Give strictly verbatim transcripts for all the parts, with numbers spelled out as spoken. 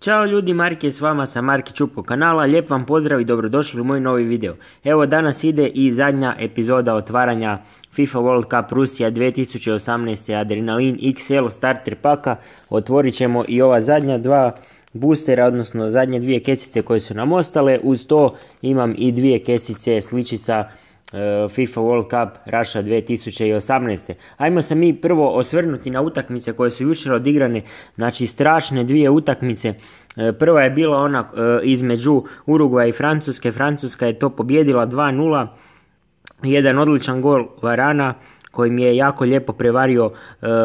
Ćao ljudi, Mark je s vama sa Marki Čupko kanala, lijep vam pozdrav i dobrodošli u moj novi video. Evo danas ide i zadnja epizoda otvaranja FIFA World Cup Rusija dvije tisuće osamnaeste Adrenalin X L starter paka. Otvorit ćemo i ova zadnja dva boostera, odnosno zadnje dvije kesice koje su nam ostale. Uz to imam i dvije kesice sličica FIFA World Cup Russia dvije tisuće osamnaeste. Ajmo se mi prvo osvrnuti na utakmice koje su jučer odigrane, znači strašne dvije utakmice. Prva je bila ona između Urugvaja i Francuske. Francuska je to pobjedila dva nula. Jedan odličan gol Varana koji je jako lijepo prevario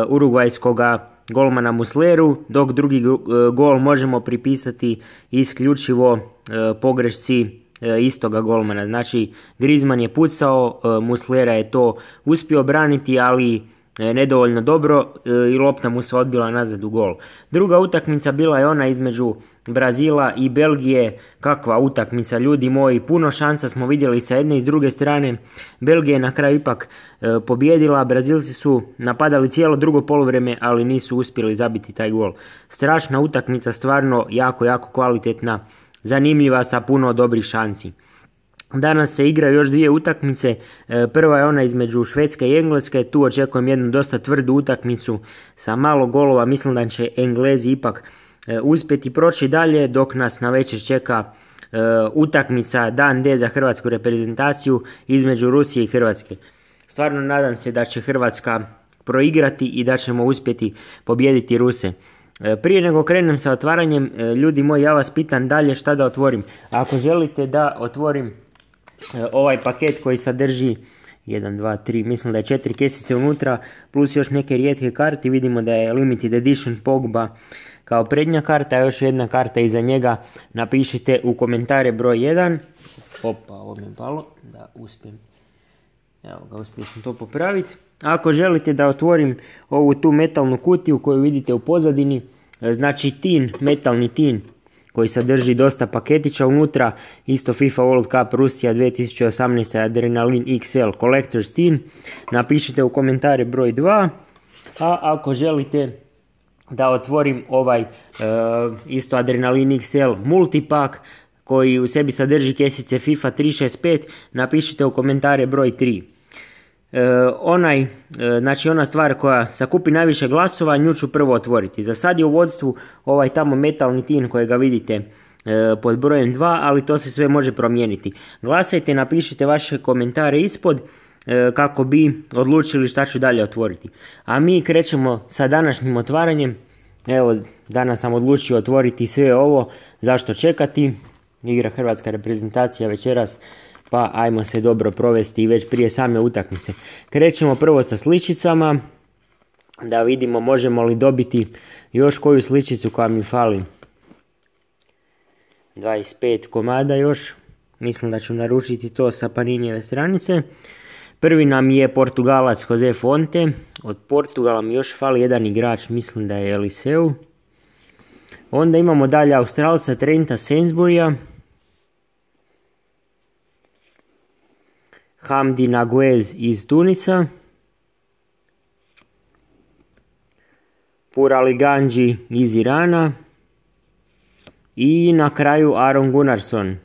urugvajskoga golmana Musleru, dok drugi gol možemo pripisati isključivo pogrešci istoga golmana. Znači Griezmann je pucao, Muslera je to uspio braniti, ali nedovoljno dobro i lopta mu se odbila nazad u gol. Druga utakmica bila je ona između Brazila i Belgije. Kakva utakmica, ljudi moji, puno šansa smo vidjeli sa jedne i s druge strane. Belgija je na kraju ipak e, pobjedila, Brazilci su napadali cijelo drugo poluvreme, ali nisu uspjeli zabiti taj gol. Strašna utakmica, stvarno jako, jako kvalitetna, zanimljiva sa puno dobrih šansi. Danas se igraju još dvije utakmice, prva je ona između Švedske i Engleske, tu očekujem jednu dosta tvrdu utakmicu sa malo golova, mislim da će Englezi ipak uspjeti proći dalje, dok nas na večer čeka utakmica dan D za hrvatsku reprezentaciju između Rusije i Hrvatske. Stvarno nadam se da će Hrvatska proigrati i da ćemo uspjeti pobijediti Ruse. Prije nego krenem sa otvaranjem, ljudi moji, ja vas pitam dalje šta da otvorim. Ako želite da otvorim ovaj paket koji sadrži jedan, dva, tri, mislim da je četiri kesice unutra, plus još neke rijetke karte, vidimo da je limited edition Pogba kao prednja karta, a još jedna karta iza njega, napišite u komentare broj jedan. Opa, ovo mi je palo, da uspijem. Evo ga, uspio sam to popraviti. Ako želite da otvorim ovu tu metalnu kutiju koju vidite u pozadini, znači tin, metalni tin koji sadrži dosta paketića unutra, isto FIFA World Cup Rusija dvije tisuće osamnaeste Adrenalin X L Collector's Tin, napišite u komentare broj dva. A ako želite da otvorim ovaj e, isto Adrenalin X L multipak koji u sebi sadrži kesice FIFA tri šest pet, napišite u komentare broj tri. E, onaj, e, znači ona stvar koja sakupi najviše glasova, nju ću prvo otvoriti. Za sad je u vodstvu ovaj tamo metalni tin kojega vidite e, pod brojem dva, ali to se sve može promijeniti. Glasajte, napišite vaše komentare ispod e, kako bi odlučili šta ću dalje otvoriti. A mi krećemo sa današnjim otvaranjem. Evo, danas sam odlučio otvoriti sve ovo, zašto čekati, igra hrvatska reprezentacija večeras, pa ajmo se dobro provesti već prije same utakmice. Krećemo prvo sa sličicama, da vidimo možemo li dobiti još koju sličicu koja mi fali. dvadeset pet komada još, mislim da ću naručiti to sa Paninijeve stranice. Prvi nam je Portugalac Jose Fonte, od Portugala mi još fali jedan igrač, mislim da je Eliseu. Onda imamo dalje Australca Trenta Sainsburya, Hamdi Naguez iz Tunisa, Purali Ganji iz Irana i na kraju Aron Gunnarsson,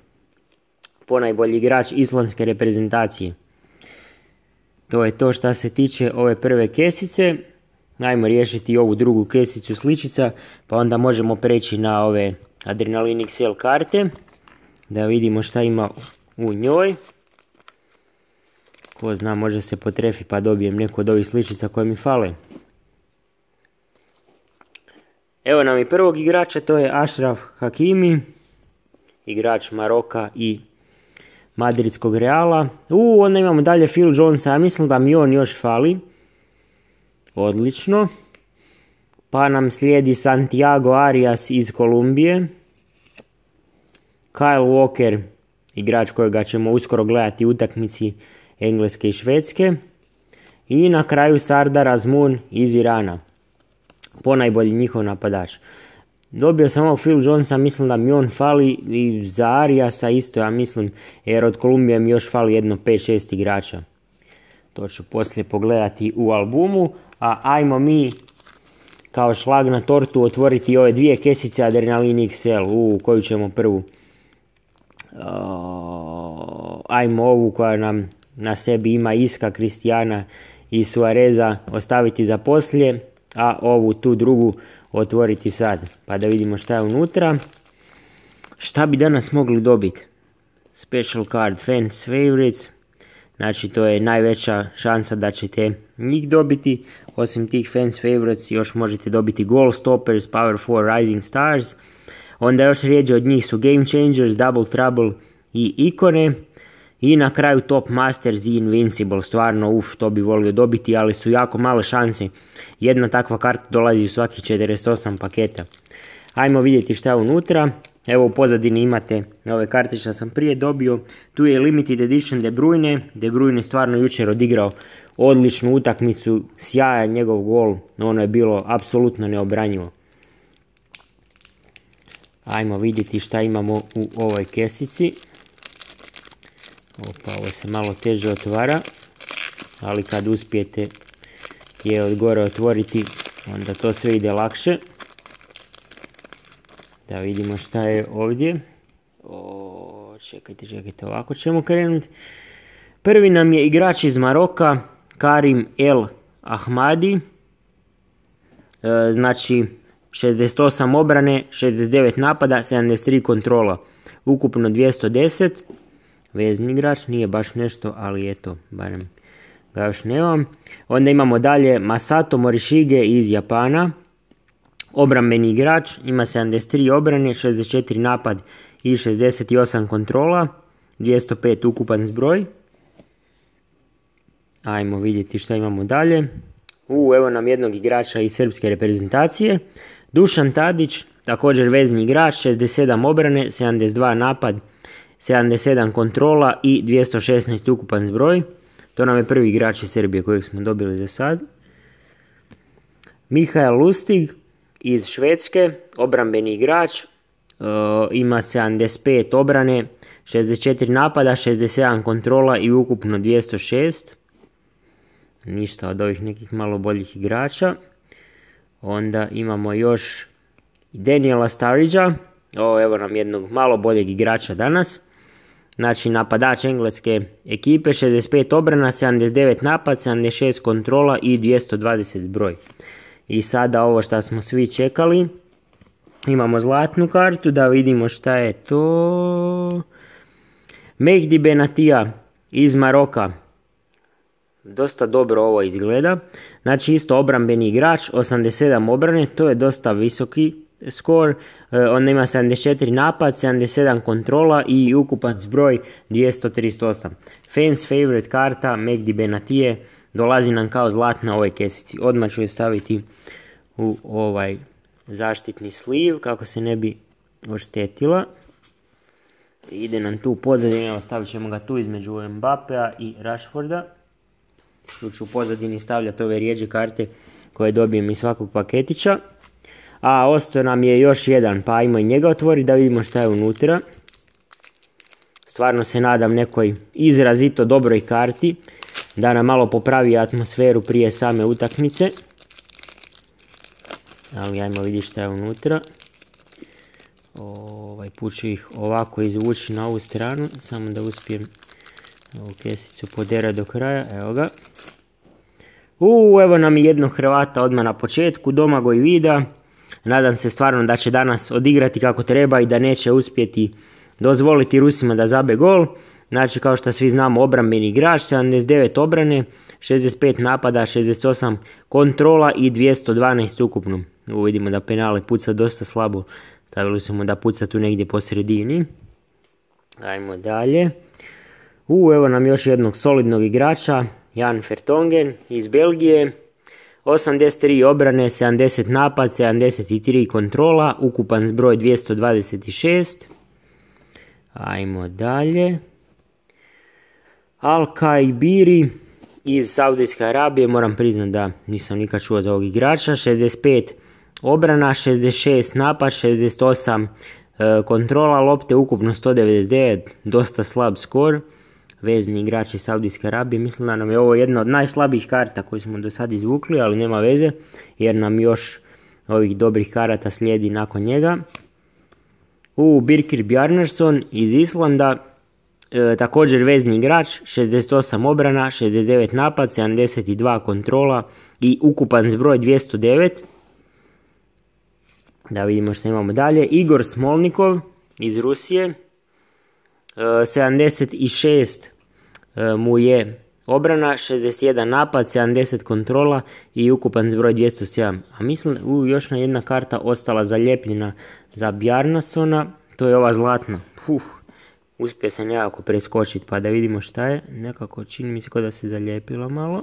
ponajbolji igrač islandske reprezentacije. To je to što se tiče ove prve kesice. Ajmo riješiti ovu drugu kesicu sličica, pa onda možemo preći na ove Adrenalin X L karte, da vidimo šta ima u njoj. Ko zna, može se potrefi pa dobijem neku od ovih sličica koje mi fale. Evo nam i prvog igrača, to je Ashraf Hakimi, igrač Maroka i Madridskog Reala. U, onda imamo dalje Phil Jonesa, ja mislim da mi on još fali. Odlično. Pa nam slijedi Santiago Arias iz Kolumbije, Kyle Walker, igrač kojega ćemo uskoro gledati u utakmici Engleske i Švedske. I na kraju Sardar Azmoun iz Irana, ponajbolji njihov napadač. Dobio sam ovog Phil Jonesa, mislim da mi on fali, i za Ariasa isto, ja mislim, jer od Kolumbije mi još fali jedno pet šest igrača. To ću poslije pogledati u albumu, a ajmo mi kao šlag na tortu otvoriti ove dvije kesice Adrenalin iks el. U, koju ćemo prvu? Uh, ajmo ovu koja nam na sebi ima Iska, Kristijana i Suareza ostaviti za poslije, a ovu tu drugu otvoriti sad. Pa da vidimo šta je unutra. Šta bi danas mogli dobiti? Special card Fans Favorites. Znači to je najveća šansa da ćete njih dobiti. Osim tih Fans Favorites još možete dobiti Goal Stoppers, Power four, Rising Stars. Onda još rijeđe od njih su Game Changers, Double Trouble i ikone. I na kraju Top Masters i Invincible. Stvarno, uf, to bi volio dobiti, ali su jako male šanse. Jedna takva karta dolazi u svakih četrdeset osam paketa. Ajmo vidjeti šta je unutra. Evo u pozadini imate ove karte što sam prije dobio. Tu je Limited Edition De Bruyne. De Bruyne stvarno jučer odigrao odličnu utakmicu. Sjajan njegov gol. Ono je bilo apsolutno neobranjivo. Ajmo vidjeti šta imamo u ovoj kesici. Opa, ovo se malo teže otvara. Ali kad uspijete je od gore otvoriti, onda to sve ide lakše. Da vidimo šta je ovdje. O, čekajte, čekajte, ovako ćemo krenuti. Prvi nam je igrač iz Maroka, Karim El Ahmadi. E, znači, šezdeset osam obrane, šezdeset devet napada, sedamdeset tri kontrola. Ukupno dvjesto deset. Vezni igrač, nije baš nešto, ali eto, barem ga još nemam. Onda imamo dalje Masato Morishige iz Japana. Obrambeni igrač, ima sedamdeset tri obrane, šezdeset četiri napad i šezdeset osam kontrola, dvjesto pet ukupan zbroj. Ajmo vidjeti šta imamo dalje. U, evo nam jednog igrača iz srpske reprezentacije. Dušan Tadić, također vezni igrač, šezdeset sedam obrane, sedamdeset dva napad, sedamdeset sedam kontrola i dvjesto šesnaest ukupan zbroj. To nam je prvi igrač iz Srbije kojeg smo dobili za sad. Mihael Lustig iz Švedske, obrambeni igrač, e, ima sedamdeset pet obrane, šezdeset četiri napada, šezdeset sedam kontrola i ukupno dvjesto šest. Ništa od ovih nekih malo boljih igrača. Onda imamo još Daniela Sturridgea, o, evo nam jednog malo boljeg igrača danas. Znači napadač engleske ekipe, šezdeset pet obrana, sedamdeset devet napad, sedamdeset šest kontrola i dvjesto dvadeset zbroj. I sada ovo što smo svi čekali. Imamo zlatnu kartu, da vidimo šta je to. Mehdi Benatia iz Maroka. Dosta dobro ovo izgleda. Znači isto obrambeni igrač, osamdeset sedam obrane, to je dosta visoki skor. On ima sedamdeset četiri napad, sedamdeset sedam kontrola i ukupan zbroj dvjesto trideset osam. Fans favorite karta Mehdi Benatie dolazi nam kao zlatna ovoj kesici. Odmah ću je staviti u ovaj zaštitni sliv kako se ne bi oštetila. Ide nam tu pozadini, evo stavit ćemo ga tu između Mbapea i Rashforda. Tu ću u pozadini stavljati ove rijeđe karte koje dobijem iz svakog paketića. A ostao nam je još jedan, pa ajmo i njega otvoriti da vidimo šta je unutra. Stvarno se nadam nekoj izrazito dobroj karti, da nam malo popravi atmosferu prije same utakmice. Ali ajmo vidjeti šta je unutra. Ovaj put ću ih ovako izvući na ovu stranu, samo da uspijem ovu kesicu poderati do kraja, evo ga. Uuu, evo nam i jednog Hrvata odmah na početku, Domagoj Vida. Nadam se stvarno da će danas odigrati kako treba i da neće uspjeti dozvoliti Rusima da zabe gol. Znači kao što svi znamo, obrambeni igrač, sedamdeset devet obrane, šezdeset pet napada, šezdeset osam kontrola i dvjesto dvanaest ukupno. Ovo vidimo da penale puca dosta slabo. Stavili smo da puca tu negdje po sredini. Ajmo dalje. U, evo nam još jednog solidnog igrača, Jan Vertonghen iz Belgije. osamdeset tri obrane, sedamdeset napad, sedamdeset tri kontrola, ukupan zbroj dvjesto dvadeset šest. Ajmo dalje. Al-Kaibiri iz Saudijske Arabije, moram priznati da nisam nikad čuo za ovog igrača. šezdeset pet obrana, šezdeset šest napad, šezdeset osam e, kontrola, lopte ukupno sto devedeset devet, dosta slab skor. Vezni igrač iz Saudijske Arabije, mislim da nam je ovo jedna od najslabijih karta koju smo do sad izvukli, ali nema veze jer nam još ovih dobrih karata slijedi nakon njega. U Birkir Bjarnason iz Islanda, e, također vezni igrač, šezdeset osam obrana, šezdeset devet napad, sedamdeset dva kontrola i ukupan zbroj dvjesto devet. Da vidimo što imamo dalje. Igor Smolnikov iz Rusije, e, sedamdeset šest e, mu je obrana, šezdeset jedan napad, sedamdeset kontrola i ukupan zbroj dvjesto sedam. A mislim, u, još jedna karta ostala zalijepljena za Bjarnasona, to je ova zlatna. Uf, uspio sam jako preskočiti pa da vidimo šta je. Nekako čini mi se kao da se zalijepila malo.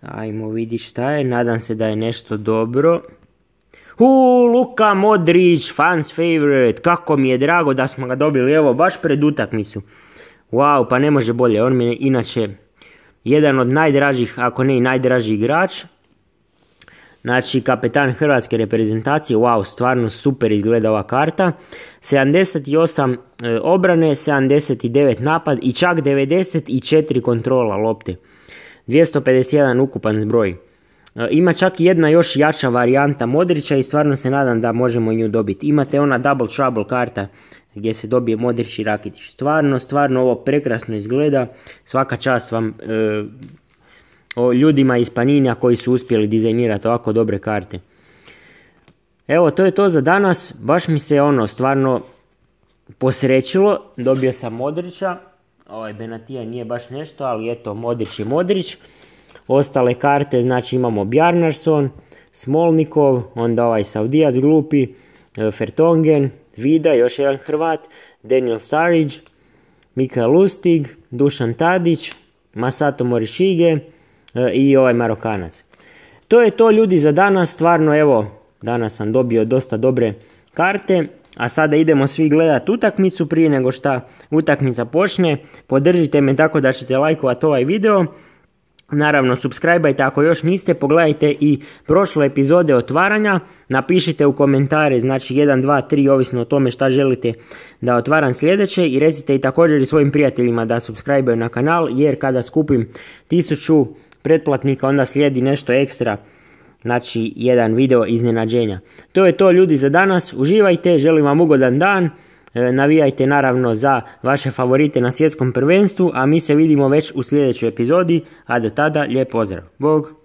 Ajmo vidjeti šta je, nadam se da je nešto dobro. Uuu, Luka Modrić, fans favorite, kako mi je drago da smo ga dobili, evo, baš pred utakmicu. Wow, pa ne može bolje, on mi je inače jedan od najdražih, ako ne i najdraži igrač. Znači, kapetan hrvatske reprezentacije, wow, stvarno super izgleda ova karta. sedamdeset osam e, obrane, sedamdeset devet napad i čak devedeset četiri kontrola lopte. dvjesto pedeset jedan ukupan zbroj. E, ima čak jedna još jača varijanta Modrića i stvarno se nadam da možemo nju dobiti. Imate ona Double Trouble karta gdje se dobije Modrić i Rakitić. Stvarno, stvarno ovo prekrasno izgleda. Svaka čast vam e, o ljudima iz Paninija koji su uspjeli dizajnirati ovako dobre karte. Evo, to je to za danas. Baš mi se ono stvarno posrećilo. Dobio sam Modrića. Ovaj Benatija nije baš nešto, ali eto, Modrić je Modrić. Ostale karte, znači imamo Bjarnason, Smolnikov, onda ovaj Saudijac glupi, Fertongen, Vida, još jedan Hrvat, Daniel Sturridge, Mikael Lustig, Dušan Tadić, Masato Morishige i ovaj Marokanac. To je to, ljudi, za danas. Stvarno, evo, danas sam dobio dosta dobre karte, a sada idemo svi gledati utakmicu. Prije nego šta utakmica počne, podržite me tako da ćete lajkovati ovaj video. Naravno, subscribe-ajte ako još niste, pogledajte i prošle epizode otvaranja, napišite u komentare, znači jedan, dva, tri, ovisno o tome šta želite da otvaram sljedeće, i recite i također i svojim prijateljima da subscribe-aju na kanal, jer kada skupim tisuću pretplatnika onda slijedi nešto ekstra, znači jedan video iznenađenja. To je to, ljudi, za danas. Uživajte, želim vam ugodan dan. Navijajte naravno za vaše favorite na svjetskom prvenstvu, a mi se vidimo već u sljedećoj epizodi, a do tada lijep pozdrav. Bog!